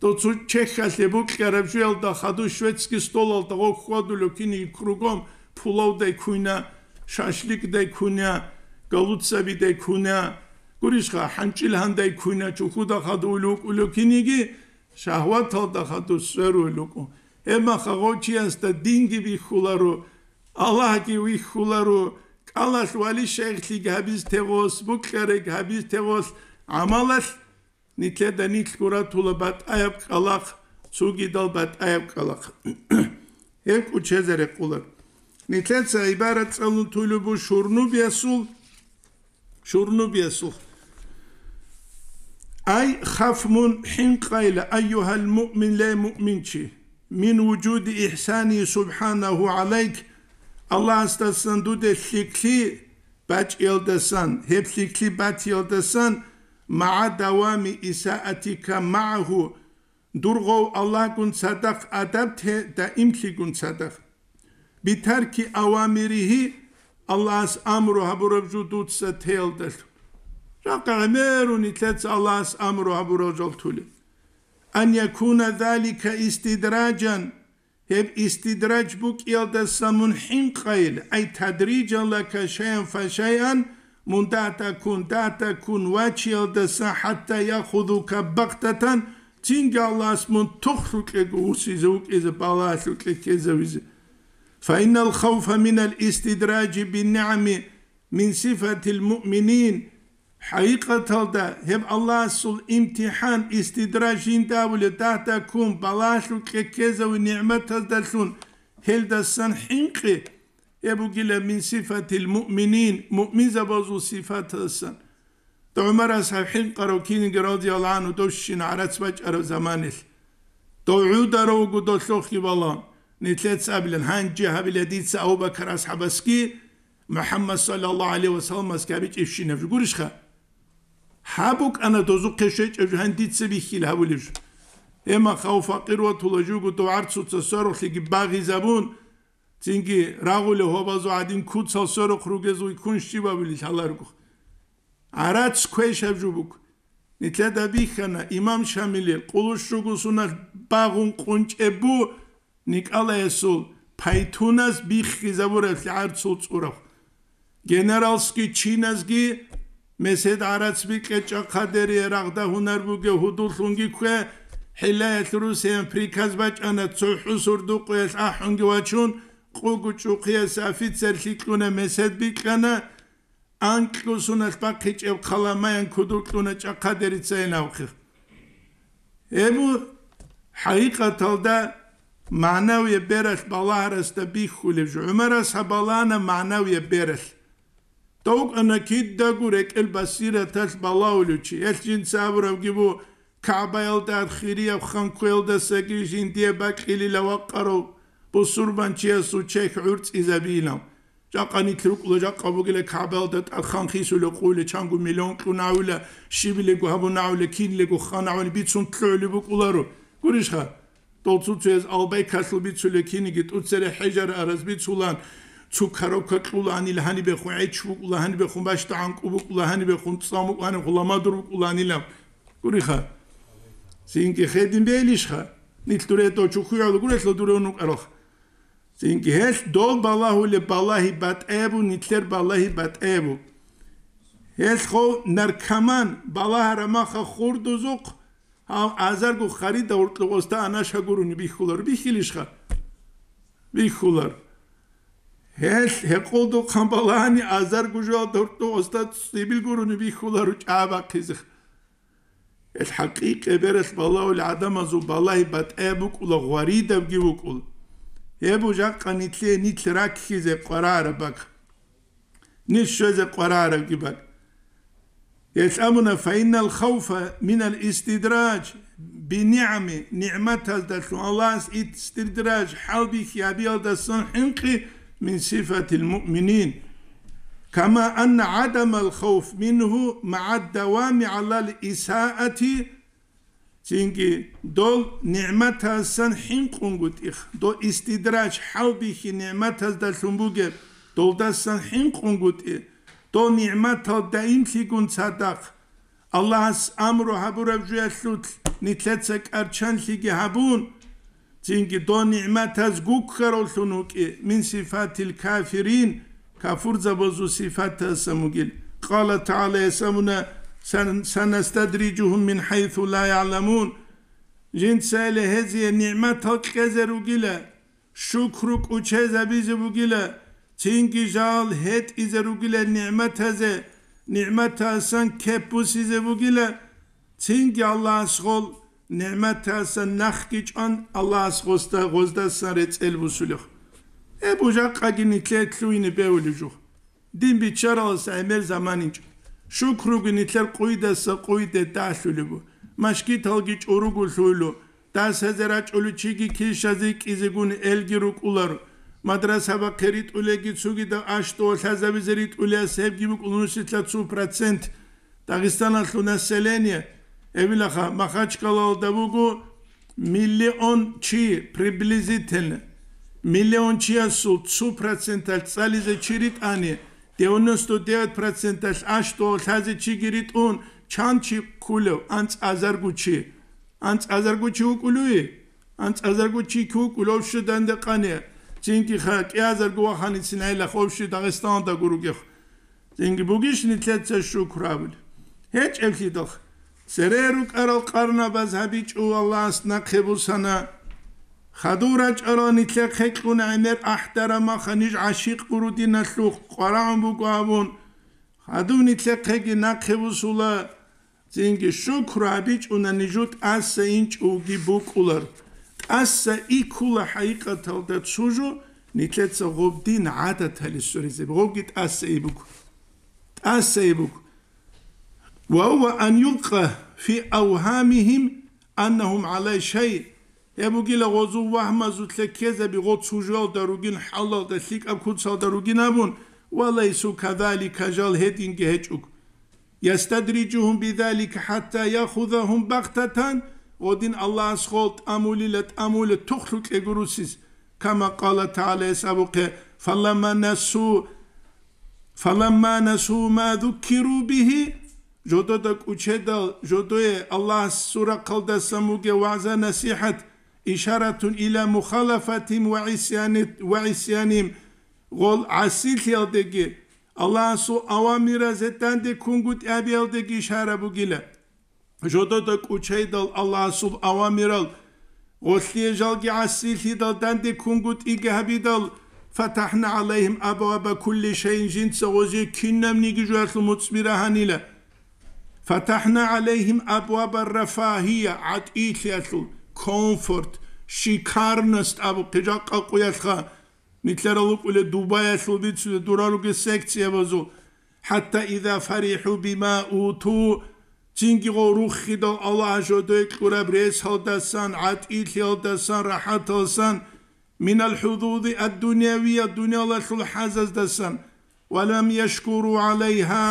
Дов цо чехьалъе букьараб жуялда хадув шведский столалда гъо хьвадулев киниги кругом пулавдай куйна, шашликдай куйна, голубцабидай куйна, гурищха, хӀанчӀил гьандай куйна, чухуда хадув вукӀулев киниги шагьваталда хадув сверулел вукӀун. Гьебмаха гъов чиясда динги бихьуларо, Аллагьги вихьуларо, кӀалалъ вали-шайихлъиги гьабиз тегъос, букьарайги гьабиз тегъос, гӀамалалъ нилъеда нилъго ратула батӀаяб кӀкӀалахъ, цугидал батӀаяб кӀкӀалахъ. Гьеб кӀучезаре къулар. Нилъеца гӀибарат цӀалун туйлеб бу шурнубиясул, шурнубиясул. Ай, хаф мун хӀинкъайла, айюгьал муъмин, ле муъминчи, мин вужуди ихсани субхӀанагьу гӀалайк, Аллагьасдасан дуде лъикӀлъи бачӀиялдасан, гьеб лъикӀлъи батиялдасан, магӀа давами исаатика магӀагьу, дур гъов Аллагьгун цадахъ адаб те даимлъигун цадахъ. Битарки авамиригьи, Аллагьас амру гьабураб жо дуца теялдалъун. Жакъа гӀемерун нилъеца Аллагьас амру гьабурал жал тулеб. Ан якуна залика истидраджан, гьеб истидраж букӀиялдаса мун хӀинкъайил, ай тадриджан лака шайан фа шайан, мун дагьдаккун, дагьдаккун вачиялдаса хӀатта яхудука бахтатан, цинги Аллагьас мун тухлъукьего вусизе вукӀизе балагьалъукье ккезавизе. Фаиннал хавфа минал истидраджи биннигӀами мин сифатил муъминин, хӀакъикъаталда гьеб Аллагьасул имтихӀан, истидраж жинда абулеб, дагьдаккун балагьалъукье ккезави нигӀматаздалъун, гьелдасан хӀинкъи, гьеб бугила мин сифатил муъминин, муъминзабазул сифатасан. ГӀумар асхӀаб хӀинкъарав киниги радияллагьу гӀангьу дов щин гӀарац бачӀараб заманилъ. Дов гӀударав вуго долъухъе балагьун. Нилъеца абилан, гьанже гьабила дица Абу Бакар асхӀабасги МухӀаммад саллаллагьу гӀалайгьи ва салламасги гьабичӀебщинаб жо гурищха? Гьаб букӀана дозухъе щвечӀеб жо, гьанже дица бихьила гьабулеб жо. Гьебмаха гьав факъир ватула жуго дов гӀарцуца сверухълъиги багъизабун, цинги рагъулев гьобазул гӀадин куцал сверухъ ругезул ккун щибабили лъаларгу. ГӀарац квешаб жо буго. Нилъеда бихьана, имам Шамилил къулущ руго суналъ багъун къунчӀеб бу, никӀалаясул пайтунас биххизабураб лъагӀарцул цӀурав. Генералсги чиназги месед гӀарац бикье чӀахъадери рагъда гьунар бугев гьудуллъунги ккве, хӀиллаялъ русиям приказ бачӀана, цохӀо сурдукъуялъ ахӀунги вачун, къугу чӀухъиясе офицер лъикьуна месед бикьана, анкьусуналъ бахъичӀеб хъаламаян кудукьуна чӀахъадерицайин авхъи. Гьеб хӀакъикъаталда Магьнавияб бералъ балагьарасда бихьулеб жо. ГӀумарас гьаб балагьана магьнавияб бералъ. Дов вукӀана кидаго рекӀел басираталъ балагьулев чи. Гьелъ жинца абурабги бу, КагӀбаялда хирияб ханкуялдасаги жиндие бакьилила вакъарав бусурбанчиясул чехь гӀурцӀизабилан. Жакъа нилъ рукӀула, жакъа бугила КагӀбаялда тӀад хан хисулев къуйла, чанго миллион кьунавила, щибилего гьабунавила, кинлего ханавила, бицун лъугӀулеб букӀуларо. Гурищха? Дол цуцуяз албай калъул бицулел киниги, тӀуцере хӀежар араз бицулан, цу коробка кьуланил гьанибехун гӀеч букӀула, гьанибехун бащда гӀанкӀу букӀула, гьанибехун цӀам букӀула, гьанибехун ламадур букӀуланила. Гуриха. Цинги хедин бейилищха? Нилъ дуре дочухъуялу гурелъул дуре унукъаралха. Цинги гьелъ дол балагьулеб балагьи батӀаябу, нилъер балагьи батӀаябу. Гьелъ хов наркоман балагьара маха хурдузухъ, гьав азарго харида гьоркьов оста анаша гурони бихьулар, бихьилищха? Бихьулар. Гьелъ гьекъолдухъан балагьани азарго жоялда гьоркьов оста цӀибил гурони бихьулар чӀа бахъизе. Гьелъ хӀакъикъи бералъ балагьул гӀадамазул балагьи батӀаяб букӀула, гъваридабги букӀула. Гьеб жакъа нилъе нилъ раккизе къварараб бакӀ. Нилъ щвезе къварарабги бакӀ. Гьелъ абуна, فإن الخوف من الاستدراج بالنعم, нигӀматаздалъун Аллагьас истидраж хӀалбихьи гьабиялдасан хӀинкъи من صفة المؤمنين. كما أن عدم الخوف منه مع الدوام على الإساءة. Цинги дол нигӀматасан хӀинкъунгутӀи, дол истидраж хӀалбихьи нигӀматаздалъун бугеб, долдасан хӀинкъунгутӀи, дол нигӀматал даимлъигун цадахъ, Аллагьас амру гьабураб жуялъулъ нилъеца кӀарчанлъиги гьабун, цинги дол нигӀматаз гуккаравлъун вукӀи, من صفات الكافرين, кафурзабазул сифатасан вугил. قال تعالى, ясамуна, сан-, سنستدرجهم من حيث لا يعلمون. Жинцайиле гьезие нигӀматал кьезе ругила, шукру кӀучезабизе бугила, цинги жал гьетӀизе ругила нигӀматазе, нигӀматасан кеп бусизе бугила, цинги Аллагьас гъол нигӀматасан нахги чӀван, Аллагьас гъосда-, гъоздасан рецӀел бусулев. Гьеб бужахъаги нилъее лъугьине бевулев жух. Дин биччаралас гӀемер заманинчӀо. Шукруги нилъер къуйдаса къуйде дагьлъулебу. Машгиталги чӀуруго лъуйлу. Дас гьезе рачӀулев чиги килщазе кӀизегун элги рукӀуларо. Мадрасабахъе ритӀулеги цугидал аш-дов лъазабизе ритӀулеяс гьебги букӀун нусилъа цо процент. Дагъистаналъул население, эбилаха, Махачкалалда буго миллион чи приблизительно. Миллион чиясул цо проценталъ цӀализе чи ритӀани, девяносто девять проценталъ аш-дов лъазе чиги ритӀун, чан чи ккулев? АнцӀазарго чи. АнцӀазарго чи вукӀулуй? АнцӀазарго чи вукӀулев щуданде къане, цинги ха кӀиазарго ваханецин гӀелах вовщи Дагъистаналда гуругех. Цинги бугищ нилъеца шукр абулеб? ГьечӀеблъидал. Цере рукӀарал къарнабаз гьабичӀо Аллагьас нахъе бусана. Хадур рачӀарал нилъехъе кьуна гӀемер ахӀдара маха ниж гӀашикъ гуро диналъухъ къварагӀун буго абун. Хадув нилъехъеги нахъе бусула. Цинги шукру гьабичӀуна нижу тӀаса инчӀоги букӀулар. ТӀаса иккула хӀакъикъаталда цо жо, нилъеца гъоб дин гӀадатали суризе, гъобги тӀаса ибук. ТӀаса ибук. Ва гьува ан юлкъа фи авгьамихим аннахум гӀалай шай. Гьеб бугила гъозул вагьмазулъе ккезаби, гъо цужуялда ругин, хӀалалда, лъикӀаб куцалда ругин абун, ва лайсу кадалика, жал гьединги гьечӀуг. Ястадриджугьум бидалика хӀатта яхузагьум багътатан, гъодин Аллагьас гъол тӀамулила, тӀамула тухлъукье гурусис, кама къала тагӀала, гьес абухъе, фаламма насу, фаламма насу ма зуккиру бигьи, жодода кӀучедал, жодое Аллагьас сурахъалдасан бугев вагӀза-насихӀат, ишаратун ила мухалафатим ва гӀисяни-, ва гӀисяним, гъол гӀасилъиялдеги, Аллагьасул авамиразе данде ккунгутӀи абиялдеги ишара бугила. Жодода кӀучайдал Аллагьасул авамирал, гъолъие жалги гӀасилъидал данде ккунгутӀиги гьабидал, фатахӀна гӀалайгьим абваба кулли шайин, жинца гъозие кинабниги жоялъул муцӀби рагьанила. ФатахӀна гӀалайгьим абваба рафагьия, гӀатӀилъиялъул, комфорт, шикарность абухъе жакъа къуялъха, нилъерал рукӀулел Дубаялъул бицулел дураруге секциябазул, хӀатта иза фарихӀу бима уту, цинги гъов руххидал Аллагь жодой кьураб ресалдасан, гӀатӀилъиялдасан, рахӀаталсан, минал хӀузузи ад-дунявия, дуниялалъул хӀазаздасан, ва лам яшкуру гӀалайха,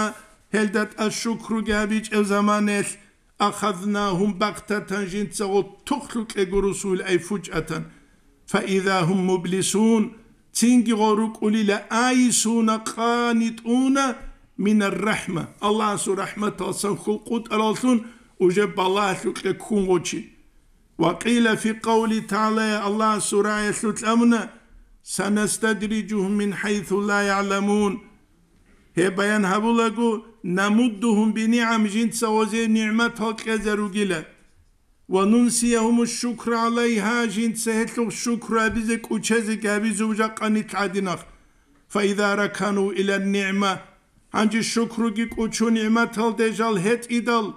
гьелда тӀад шукруги гьабичӀеб заманелъ, ахазнагьум багътатан, жинцаго тухлъукьего русуйил ай фучӀатан, фаиза гьум мублисун, цинги гъо рукӀулила айсуна, къанитӀуна минар рахӀма, Аллагьасул рахӀматалсан хьул къутӀараллъун уже балагьлъукье ккун гъочи. Ва къила фи къавли тагӀала, Аллагьасул раялъул тӀамуна, санастадрижугьум мин хӀайсу ла ягӀламун. Гьеб баян гьабулаго, намуддугьум бинигӀам, жинца гъозе нигӀматал кьезаругила. Ва нунсиягьуму шукра гӀалайгьа, жинца гьелъул шукру гьабизе кӀучезе гьабизу жакъа нилъ гӀадинахъ. Фаиза ракану илан нигӀма, гьанже шукруги кӀучу нигӀматалде жал гьетӀидал,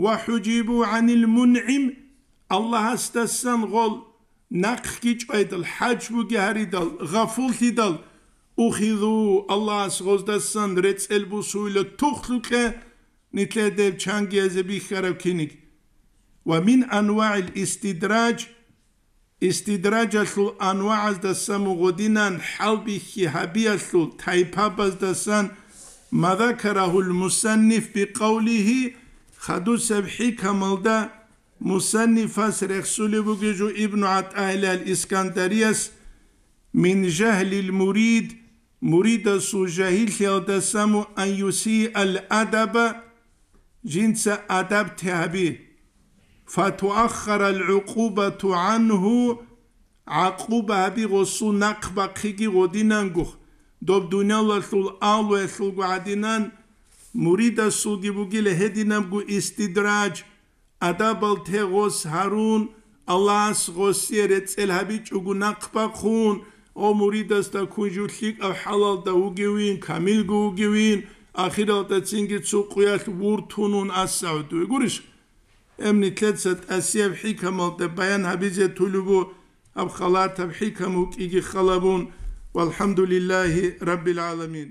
ва хӀужибу гӀанил мунгӀим, Аллагьасдасан гъол нахъги чӀвайдал, хӀажбуги гьаридал, гъафуллъидал, ухизу, Аллагьас гъоздасан рецӀел бусуйла тухлъукье, нилъеде чангиязе бихьараб киниг. Ва мин анвагӀил истидраж, истидражалъул анвагӀаздасан гъодинан хӀалбихьи гьабиялъул тайпабаздасан, ма закарагьул мусанниф бикъавлигьи, хадусеб хӀикамалда мусаннифас рехсулеб бугежу Ибну ГӀатӀаилал Искандарияс, мин жагьлил мурид, муридасул жагьиллъиялдасаму ан юсиал адаба, жинца адаб тягьби, фатуаххарал гӀукъубату гӀанху, гӀакъуба гьаби гъосул нахъ бахъиги гъодинангух, доб дуниялалъул алуялъулго гӀадинан, муридасулги бугила гьединабго истидраж, адабал те гъос гьарун, Аллагьас гъосие рецӀел гьабичӀого нахъ бахъун, о муридасда ккун жив лъикӀаб хӀалалда вугевин, камилго вугевин, ахиралда цинги цо къуялъ вуртунун асагӀудуе. Гурищ? Эм нилъеца тӀасияб хӀикамалда баян гьабизе тулеб бу, гьаб халатаб хӀикам вукӀиги халабун, валхӀамдулиллагьи раббил гӀаламин.